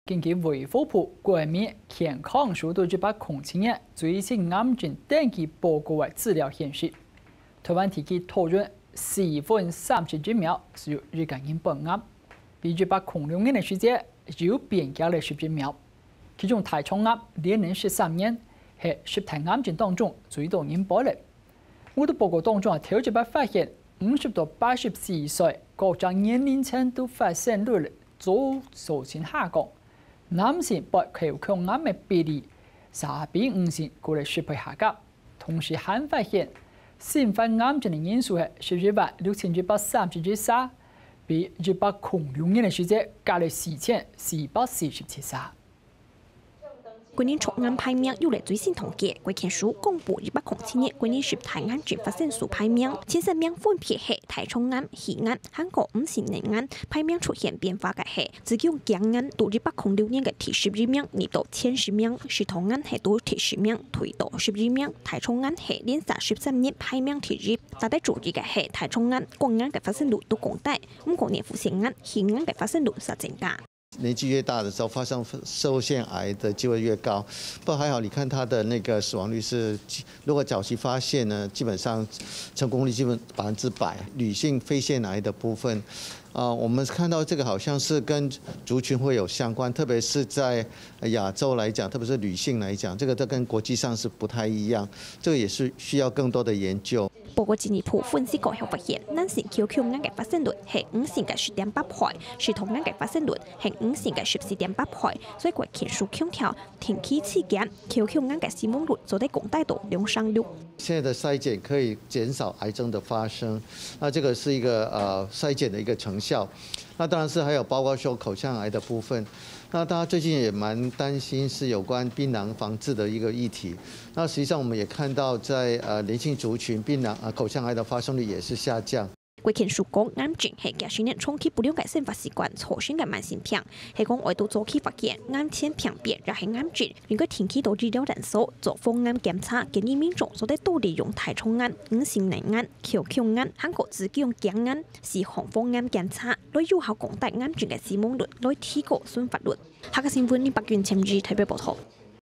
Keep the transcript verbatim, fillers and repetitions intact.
根據衛福部國民健康署對一百空七年最新癌症登記報告个資料顯示，臺灣地區討論四分三十一秒就有一個人發癌，比一百空六年个時節又變加了十一秒。其中大腸癌連續十三年係十大癌症當中最多人發个。 我在報告當中啊，頭一擺發現，五十到八十四歲各種年齡層都發生率遭逐漸下降，男性發口腔癌个比例也比女性高了十倍下降。同時還發現，新發癌症个人數係十一萬六千一百三十一儕，比一百空六年个時節加了四千四百四十七儕。 國人腸癌排名有了最新統計，國健署公布一百空七年國人十大癌症發生數排名，前三名分別係大腸癌、肺癌，還過五型乳癌。排名出現變化个係子宮頸癌，對一百空六年个第十一名，跌到前十名；食道癌係對第十名退到十一名，大腸癌係連續十三年排名第一。值得注意个係，大腸癌、肝癌个發生率都降低，毋過呢，腹腺癌、胸癌个發生率煞增加。 年纪越大的时候，发生乳腺癌的机会越高。不过还好，你看它的那个死亡率是，如果早期发现呢，基本上成功率基本百分之百。女性肺腺癌的部分，啊、我们看到这个好像是跟族群会有相关，特别是在亚洲来讲，特别是女性来讲，这个都跟国际上是不太一样，这个也是需要更多的研究。 報告進一步分析過後發現，男性口腔癌个發生率係女性个十點八倍，食道癌个發生率係女性个十四點八倍，所以國健署強調，定期篩檢，口腔癌个死亡率做得降低到兩成六。现在的筛检可以减少癌症的发生，那这个是一个呃筛检的一个成效。那当然是还有包括说口腔癌的部分，那大家最近也蛮担心是有关槟榔防治的一个议题。那实际上我们也看到在呃年轻族群槟榔啊、呃口腔癌的发生率也是下降。 國健署講，癌症係幾十年長期不良个生活習慣造成个慢性病，係講愛到早期發現，癌前病變也係癌症，應該定期到醫療診所做防癌檢查，建議民眾做得多利用大腸癌、乳腺癌、口腔癌，還過子宮頸癌四項防癌檢查，來有效降低癌症个死亡率，來提高存活率。客家新聞林百君、陳怡台北報導。